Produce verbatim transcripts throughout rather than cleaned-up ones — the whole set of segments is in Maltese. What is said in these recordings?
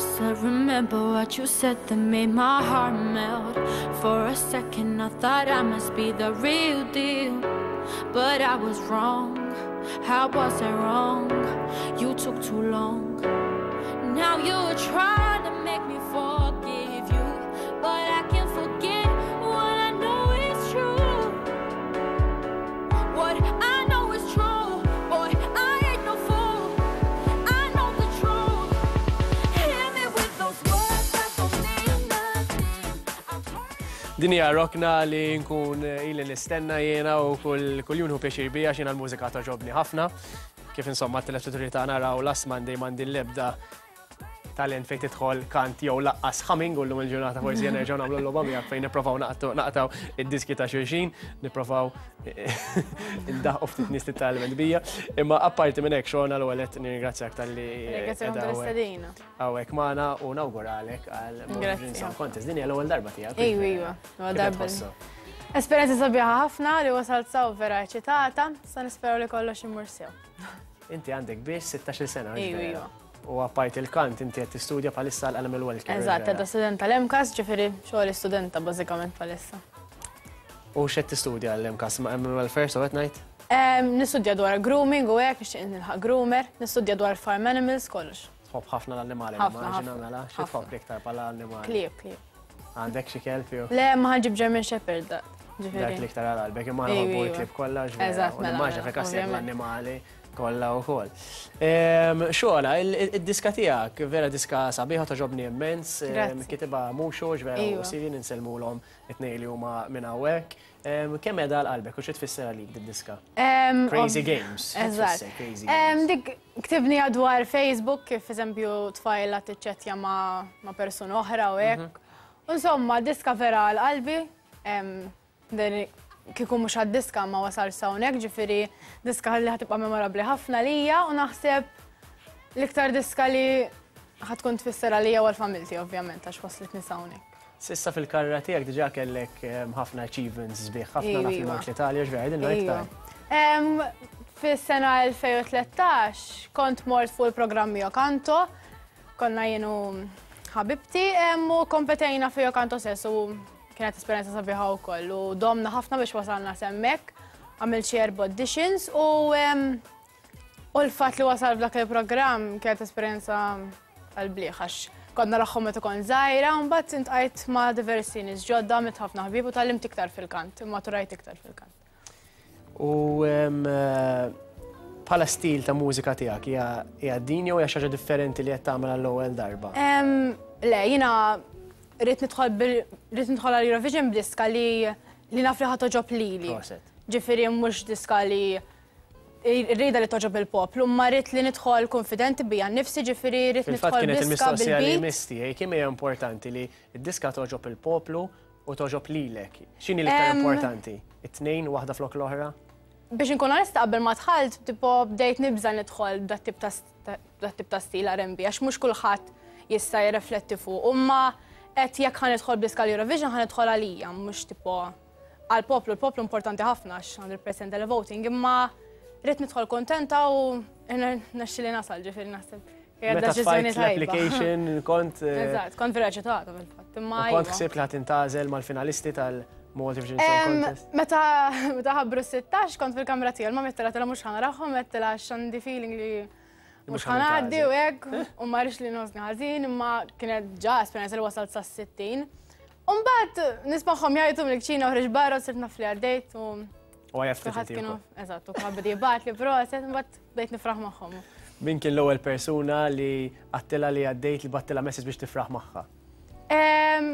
said, remember what you said that made my heart melt. For a second, I thought I must be the real deal. But I was wrong. How was I wrong? You took too long. Now you're trying to make me forgive you. But I can't forget what I know is true. What I know is true. Boy, I ain't no fool. I know the truth. Hit me with those words that don't mean nothing. I'm hurt. Din hija rokna li nkun ili nistenna jiena u kull kull jum hu pjaċir bija x'jiena l-mużika togħġobni ħafna. Kif insomma t-telespettaturi tagħna raw last Monday m'għandi l-ebda talent fejn tidħol kant jew lanqas humming u llum il-ġurnata forsi nerġgħu nagħmlu l-logħba miegħek fejn nipprovaw naqtgħu naqtgħu id-diski ta' xulxin, nipprovaw indaħħu ftit nies titgħallem bija. Imma apparti minn hekk Shona l-ewwel qed nirringrazzjak talli Ringrazzjakom tal-istedina. hawnhekk magħna u nawguralek għal Grazzi. Song Contest. Din hija l-ewwel darba tiegħek. Ejwa, ejwa. Huwa Kif qed darba. tħossok? Esperjenza sabiħa ħafna li wasalt s'hawn vera eċitata, sa nisperaw li kollox imur sew. Inti għandek biss sittax-il sena. Ejwa, vera? ejwa. U apparti il-kant, inti qed tistudja bħalissa l-Animal Welfare. Eżatt, vera? għadda student tal-MCAST, ġifieri xogħol studenta bażikament bħalissa. U x'qed tistudja l-MCAST, ma' Animal Welfare, so qed ngħid? Em, Nistudja dwar grooming u hekk, nixtieq nilħaq groomer, nistudja dwar farm animals, kollox. Tħobb ħafna l-annimali, Ħafna, immaġina ħafna, mela, xi ħafna. tħobb l-iktar bħala annimali? Klieb, klieb. Għandek xi kelb jew? Le, ma ħa nġib German Shepherd, da. Dak Ġifieri. l-iktar għal qalbek, imma Ejwa, nħobbu ejwa. l-klieb kollha, ġvera. Eżatt, U mela, nimmaġina mela, fil-każ tiegħek ovvjament. l-annimali kollha wkoll. Ehm, Shona, id-diska tiegħek vera diska sabiħa togħġobni immens, ehm, Grazzi. kitibha Muxu, ġvera u Ejwa. Siri insellmulhom it-tnejn li huma minn hawnhekk. Ehm, Kemm qiegħda għal qalbek u xi tfisser għalik did-diska? Em, Crazy ov- Games. Xi Eżatt. tfisser Crazy Em, Games? Dik ktibni dwar Facebook kif eżempju tfajla tiċċettja ma, ma persuna oħra u hekk. Mhm. Insomma, diska vera għal qalbi. em, din Kieku mhux għad-diska ma wasal s'hawnhekk, ġifieri diska li ħa tibqa' memorabbli ħafna lija u naħseb l-iktar diska li ħa tkun tfisser għalija u għal-familti ovvjament għax waslitni s'hawnhekk. S'issa fil-karriera tiegħek diġà kellek ehm, ħafna achievements sbieħ, ħafna Ejwa, naf li iva. mort l-Italja, ġvera, din iktar. Em, Fis-sena elfejn u tlettax kont mort fuq il-programm Io Canto, konna jien u ħabibti em, u kompetejna fi Io Canto stess u kienet esperjenza sabiħa wkoll u domna ħafna biex wasalna s'hemmhekk, għamilt xi erba' auditions u em, u l-fatt li wasal f'dak il-programm kienet esperjenza tal-bliħ għax konna narahom meta kont żgħira, u mbagħad iltqajt ma' diversi nies ġodda, għamilt ħafna ħbieb u tgħallimt iktar fil-kant, immaturajt iktar fil-kant. U em, eh, bħala stil ta' mużika tiegħek hija hija din jew hija xi ħaġa differenti li qed tagħmel għall-ewwel darba? Em, Le, jiena rrid nidħol bil- rrid nidħol għal Eurovision b'diska li li naf li ħa togħġob lili. Proset. Ġifieri mhux diska li rrida li togħġob il-poplu, ma rrid li nidħol konfidenti bija nnifsi, ġifieri rrid Fil-fatt nidħol kienet b'diska il-mistoqsija li bil-beat. misti, kemm hija importanti li d-diska togħġob il-poplu u togħġob lilek. X'inhi l-iktar Em, importanti? It-tnejn waħda flok l-oħra? Biex nkun onesta qabel ma dħalt, tipo bdejt nibża nidħol b'dat tip ta' dat tip ta' stil R and B, għax mhux kulħadd jista' jirrifletti fuq. Imma qed jekk ħa nidħol b'diska l-Eurovision ħa nidħol għalija, mhux tipo għal-poplu, il-poplu importanti ħafna għax mille fil-mija tal-voting, imma rrid nidħol kontenta u nexxili nasal ġifieri naħseb. Hija Meta deċiżjoni tfajt tajba. l-application kont eh, Eżatt, kont vera eċitata fil-fatt. Imma u kont iva. ħsibt li ħa tintgħażel mal-finalisti tal-Malta Eurovision Song Em, Contest. Meta meta ħabbru sittax kont fil-kamra tiegħi, ma mettilha mhux ħa narahom, għedtilha għax għandi feeling li mhux mhux ħa ħa ngħaddi u nintgħażel. hekk u ma rridx li nħossni ħażin, imma kienet ġa esperjenza li wasalt sa sittin. U mbagħad nismagħhom jgħidu mill-kċina uħriġ barra u sirt naf li għaddejt u U għajja ftit kulħadd inti kienu wkoll. Eżatt, u kulħadd beda jibgħat li proset, mbagħad bdejt nifraħ magħhom. Min kien l-ewwel persuna li għedtilha li għaddejt li bgħattilha message biex tifraħ magħha? Em,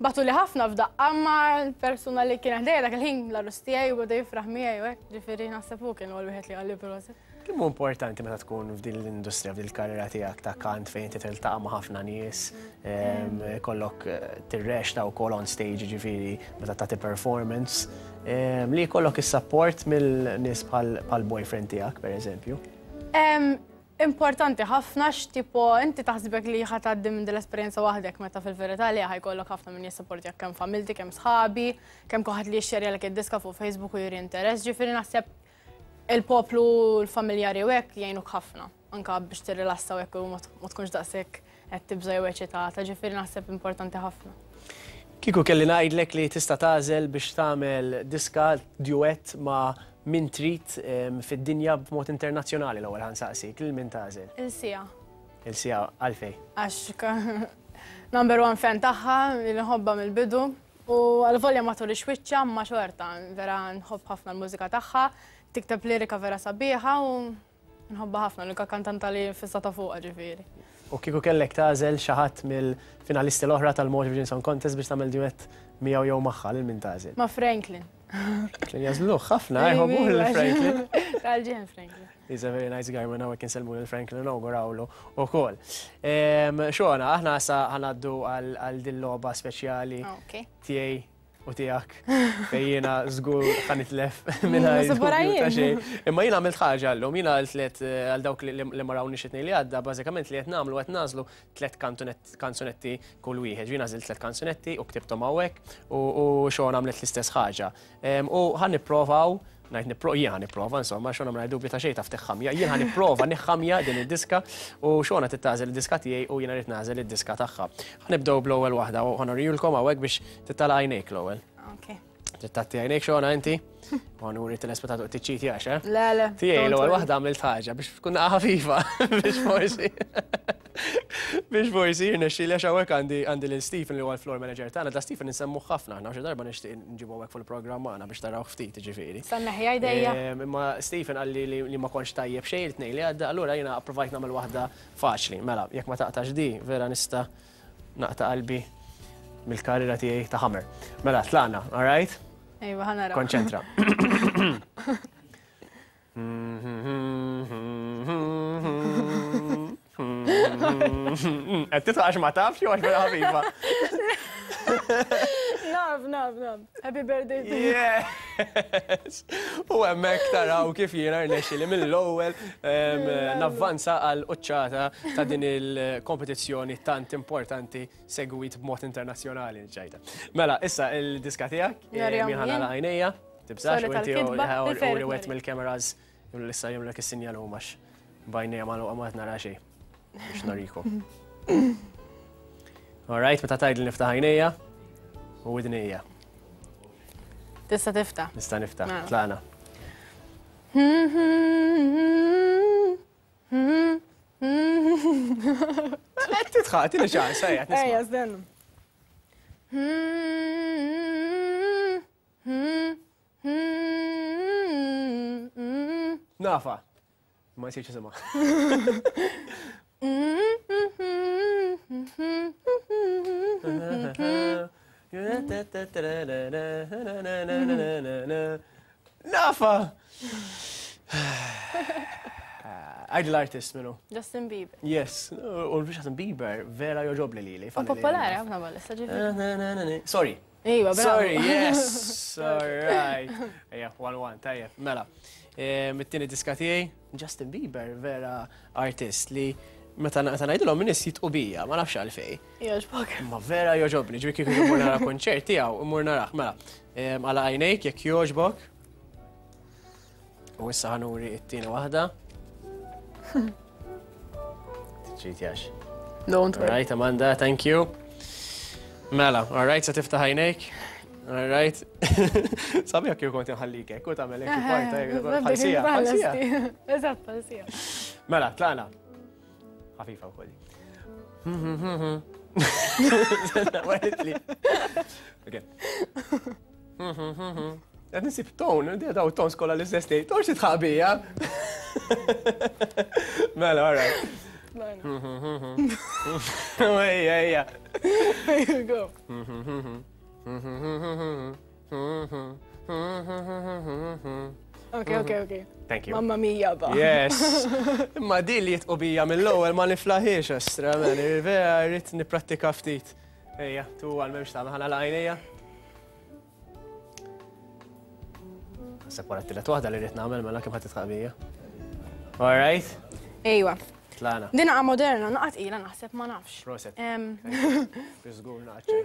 Bagħtuli ħafna f'daqqa, ma l-persuna li kien ħdejja dak il-ħin l-għarus tiegħi u beda jifraħ miegħi u hekk, ġifieri naħseb hu kien l-ewwel wieħed li qalli proset. Kemm hu importanti meta tkun f'din l-industrija, f'din il-karriera tiegħek ta' kant fejn inti tiltaqa' ma' ħafna nies, em, kollok eh, tirreċta wkoll on stage ġifieri meta tagħti performance, em, li jkollok is-support mill-nies bħal bħal boyfriend tiegħek pereżempju. Em, Importanti ħafna x'tipo inti taħsbek li ħa tgħaddi minn din l-esperjenza waħdek meta fil-verità li ħa jkollok ħafna min jissapportjak kemm familti, kemm sħabi, kemm kulħadd li jixxerjalek id-diska fuq Facebook u juri interess, ġifieri naħseb il-poplu l-familjari u hekk jgħinuk ħafna, anka biex tirrilassa u hekk u ma tkunx daqshekk qed tibża' jew eċitata, ġifieri naħseb importanti ħafna. Kieku kelli ngħidlek li tista' tagħżel biex tagħmel diska duett ma' min trid fid-dinja b'mod internazzjonali l-ewwel ħa nsaqsik, lil min tagħżel? Lil Sia. Lil Sia għalfejn? Għax number one fan tagħha, li nħobbha mill-bidu, u għal-volja ma turix wiċċha ma xorta, vera nħobb ħafna l-mużika tagħha, tikteb lirika vera sabiħa u nħobbha ħafna, l-unika kantanta li fissata fuqha ġifieri. U kieku kellek tagħżel xi ħadd mill-finalisti l-oħra tal-Malta Song Contest biex tagħmel duett miegħu jew magħha, lil min tagħżel? Ma' Franklin. Franklin jagħżluh ħafna, jħobbuh lil Franklin. Tal-ġen Franklin. He's a very nice guy, minn hawnhekk insellmu lil Franklin u nawgurawlu ukoll. Xona, aħna sa ħa ngħaddu għal din logħba speċjali tiegħi u tiegħek fejn jiena żgur ħa nitlef mingħajr dubju ta' xejn. Imma jiena għamilt ħaġa llum, jiena għal tliet għal dawk li ma rawniex it-tnejn li għadda, bażikament li qed nagħmlu qed nagħżlu tliet kanzunetti kull wieħed. Jiena għażilt tliet kanzunetti u ktibthom hawnhekk u Xona għamlet l-istess ħaġa. U ħa nipprovaw, ngħid nipro, jien ħa nipprova, insomma, Xona ma dubju ta' xejn taf tiħħamja, jien ħa nipprova niħħamja din id-diska u Xona tagħżel id-diska tiegħi u jiena rrid nagħżel id-diska tagħha. Ħa nibdew bl-ewwel waħda u ħa nurijulkom hawnhekk biex titala' għajnejk l-ewwel. Ok. Trid għajnejk Xona inti? U ħa nuri telespettatu tiċċiti għax, eh? Le, le. Tiegħi l-ewwel waħda għamilt ħaġa biex tkun ħafifa, biex forsi. Biex forsi jirnexxi li għax hawnhekk għandi għandi lil Stephen li huwa l-floor manager tagħna, da Stephen insemmuh ħafna aħna xi darba nixtieq nġibu hawnhekk fil-programm magħna biex taraw ftit ġifieri. Sanna ħija jdejja. Imma Stephen qalli li ma kontx tajjeb xejn it-tnejn li għadda, allura jiena approvajt nagħmel waħda faċli. Mela, jekk ma taqtax di, vera nista' naqta' qalbi mill-karriera tiegħi ta' Hammer. Mela, tlaqna, all right? Ejwa, ħa naraw. Konċentra. Qed titħax ma tafx jew għax vera ħafifa? Naf, naf, naf. Happy birthday to you. Yes! U hemmhekk taraw kif jiena rnexxieli mill-ewwel navvanza għal quċċata ta' din il-kompetizzjoni tant importanti segwit b'mod internazzjonali ġajta. Mela, issa il-diska tiegħek, min ħa nagħlaq għajnejja, tibżax u inti u li wet mill-cameras issa jagħmlek is-sinjal huma b'għajnejja magħluqa ma qed nara xejn biex norikom. All right, meta tgħidli niftaħ għajnejja u widnejja. Tista' tiftaħ. Nista' niftaħ, tlaqna. Qed tidħaq, tieni ċans, ejja, nisma'. Ejja, stenna. Nafa. Ma jsirx isimha. Nafa! Għid l-artist minnu. Justin Bieber. Yes, u Justin Bieber vera joġobli lili. U popolari ħafna bħalissa ġifieri. Sorry. Iva, bravo. Sorry, yes. All right. Ejja, one one, tajjeb, mela. Mit-tieni diska tiegħi, Justin Bieber vera artist li meta ngħidilhom in-nies jitqu bija, ma nafx għalfejn. Jogħġbok. Ma vera jogħġobni, ġifieri kieku mmur nara konċert tiegħu, mmur narah. Mela, għala għajnejk jekk jogħġbok. U issa ħa nuri t-tieni waħda. Tiċċitjax. Don't worry. All right, Amanda, thank you. Mela, all right, sa tiftaħ għajnejk. All right. Sabiħ kif kont inħallik hekk, u tagħmel hekk parta hekk, bħal-sija, bħal-sija. Eżatt, bħal-sija. Mela, tlaqna. Ħafifa wkoll. Waqtli. Okay. Qed nisib ton, daw tons kollha l-istess tgħid, torx titħaq bija. Mela, all right. Ejja, ejja. Here you go. Okay, okay, okay. Thank you. Mamma mia, ba. Yes. Imma di li jitqu bija mill-ewwel ma niflaħiex estra, mela, vera rrid nipprattika ftit. Ejja, tu għal m'hemmx tagħmel ħa nagħlaq għajnejja. Naħseb wara t-tielet waħda li rrid nagħmel mela kemm ħadd titħaq bija. All right? Ejwa. Tlaqna. Din naqa' moderna, naqa' tqila naħseb ma nafx. Proset. Żgur naqa' ċejn.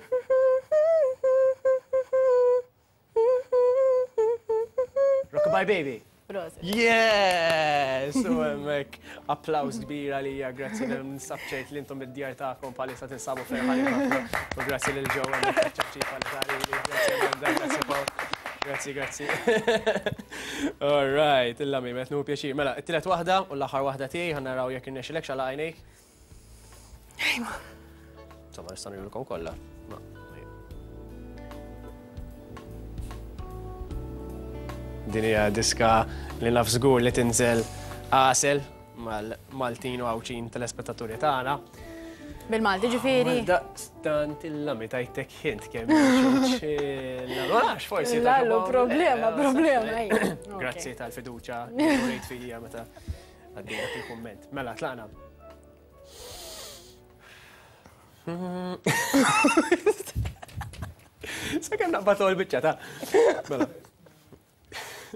Rockabye Baby. Prosit. Yes! U hemmhekk applaws kbira lija, grazzi ninsab ċert li intom id-djar tagħkom bħalissa tinsabu ferħanin ħafna. U grazzi lil ġew hemmhekk ċapċipa li tari, grazzi Amanda, grazzi Paul. Grazzi, grazzi. All right, illa mi, metnu pjaċir. Mela, it-tielet waħda u l-aħħar waħda tiegħi ħa naraw jekk irnexxilek xala għajnejk. Insomma, nista' nurulkom kollha. Ma, Din hija diska li naf żgur li tinżel għasel mal-Maltin u Għawdxin telespettaturi tagħna. Bil-Malti ġifieri. Daqstant il-lami tajtek hint kemm Ma nafx forsi. Lallu, problema, problema. Grazzi tal-fiduċja li rejt fija meta għaddejna il-kumment. Mela, tlaqna. Sakemm naqbad l-biċċa ta' Mela.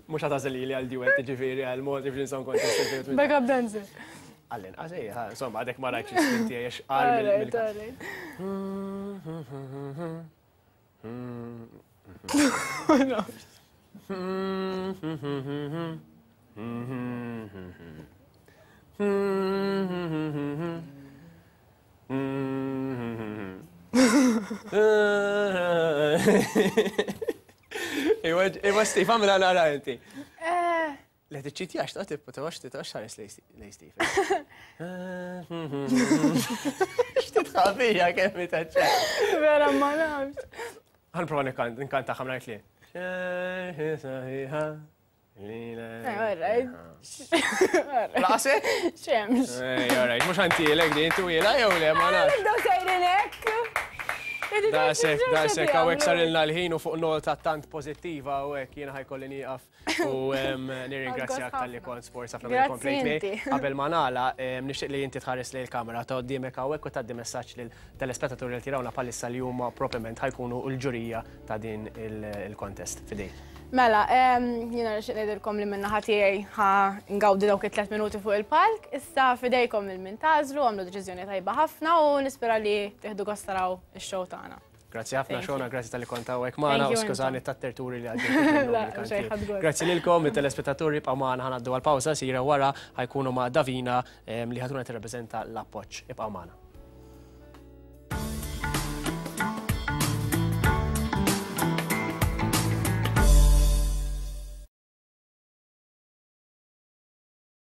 Mhux ħa tagħżel li għal duet ġifieri għal mod kif ninsaw kontest. Backup dancer. Għallin, għazej, insomma, għadek ma rajtx l-iskin tiegħi għax qal mill. Iwa, iwa, Steve, għamela nara inti. Le tiċċitjax, ta' tibqa' ta' għax titgħax ħares lej Steve. X'titħabija kemm itaċċa. Vera ma nafx. Ħanprova nkanta ħamna li. Alright. Laqse? Xemx. Alright, mhux ħantielek din twila jew le ma nafx. Nibdew sejrin hekk. Daqshekk, daqshekk, hawnhekk sarilna l-ħin u fuq nota tant pożittiva u hekk jiena ħajkolli nieqaf u nirringrazzjak talli kont sport ħafna minn komplejt. Qabel ma nagħlaq, nixtieq li inti tħares lejn il-kamera ta' qudiemek hawnhekk u tgħaddi messaġġ lil telespettaturi li tirawna bħalissa li huma propriment ħajkunu l-ġurija ta' din il-contest. Fidejk. Mela, jiena nixtieq ngħidilkom li min-naħa tiegħi ħa ngawdi dawk it-tliet minuti fuq il-palk, issa fidejkom il min tagħżlu, għamlu deċiżjoni tajba ħafna u nispera li tieħdu gost taraw ix-show tagħna. Grazzi ħafna Shona, grazzi talli kont hawnhekk magħna u skużani tat-terturi li għaddejt. Grazzi lilkom it-telespettaturi ibqgħu magħna ħa ngħaddu għall-pawża sira wara ħajkunu ma' Davina li ħatuna tirrappreżenta l-appoġġ. Ibqgħu magħna.